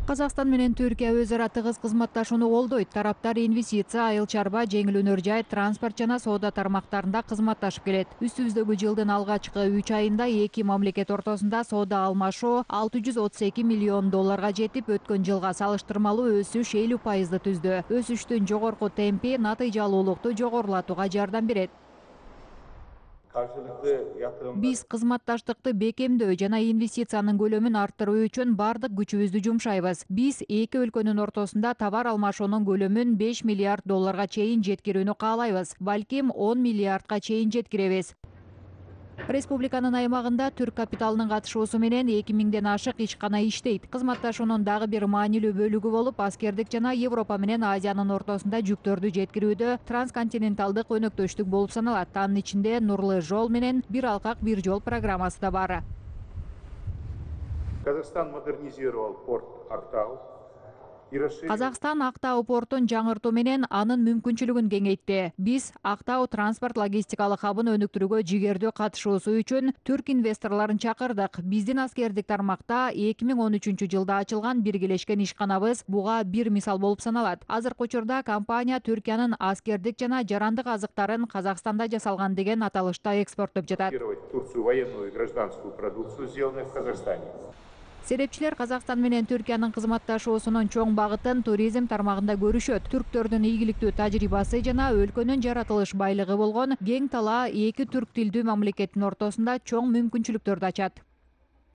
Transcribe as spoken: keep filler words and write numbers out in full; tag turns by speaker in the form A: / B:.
A: Казакстан менен Түркия өз ара тыгыз кызматташууну колдойт. Тараптар инвестиция, айыл чарба, жеңил өнөр жай, транспорт жана соода тармактарында кызматташып келет. Үстүбүздөгү жылдын алгачкы үч айында эки мамлекет ортосунда соода алмашуу алты жүз отуз эки миллион долларга жетип, өткөн жылга салыштырмалуу өсүш элүү пайызды түздү. Өсүштүн жогорку темпи натыйжалуулукту жогорулатууга жардам берет. Биз кызматташтыкты бекемдөө жана инвестициянын көлөмүн арттыруу үчүн бардык күчүбүздү жумшайбыз. Биз эки өлкөнүн ортосунда товар алмашуунун көлөмүн беш миллиард долларга чейин жеткирүүнү каалайбыз. Балким он миллиардка чейин жеткиребиз. Республиканын аймагында түрк капиталынын катышуусу менен эки миңден ашык ишкана иштейт. Кызматташуунун дагы бир маанилүү бөлүгү болуп, аскердик жана Европа менен Азиянын ортосунда жүктөрдү жеткирүүдө трансконтиненталдык өнөктөштүк болуп саналат. Анын ичинде Нурлы жол менен Бир алкак бир жол программасы да бар.
B: Казакстан модернизировал порт Актау.
A: Казакстан Актау портун жаңыртуу менен анын мүмкүнчүлүгүн кеңейтти. Биз Актау транспорт логистикалык хабын өнүктүрүүгө жигердүү катышуусу үчүн түрк инвесторлорун чакырдык. Биздин аскердик тармакта эки миң он үчүнчү жылда ачылган биргелешкен ишканабыз буга бир мисал болуп саналат. Азыркы учурда компания Түркиянын аскердик жана жарандык азыктарын Казакстанда жасалган деген аталышта экспорттоп жатат.
B: Турцию военную и гражданскую продукцию, сделанную в Казахстане.
A: Серепчилер Казакстан менен Түркиянын кызматташуусунун чоң багытын туризм тармагында көрүшөт. Түрктөрдүн ийгиликтүү тажрыйбасы жана өлкөнүн жаратылыш байлыгы болгон кең талаа эки түрк тилдүү мамлекеттин ортосунда чоң мүмкүнчүлүктөрдү ачат.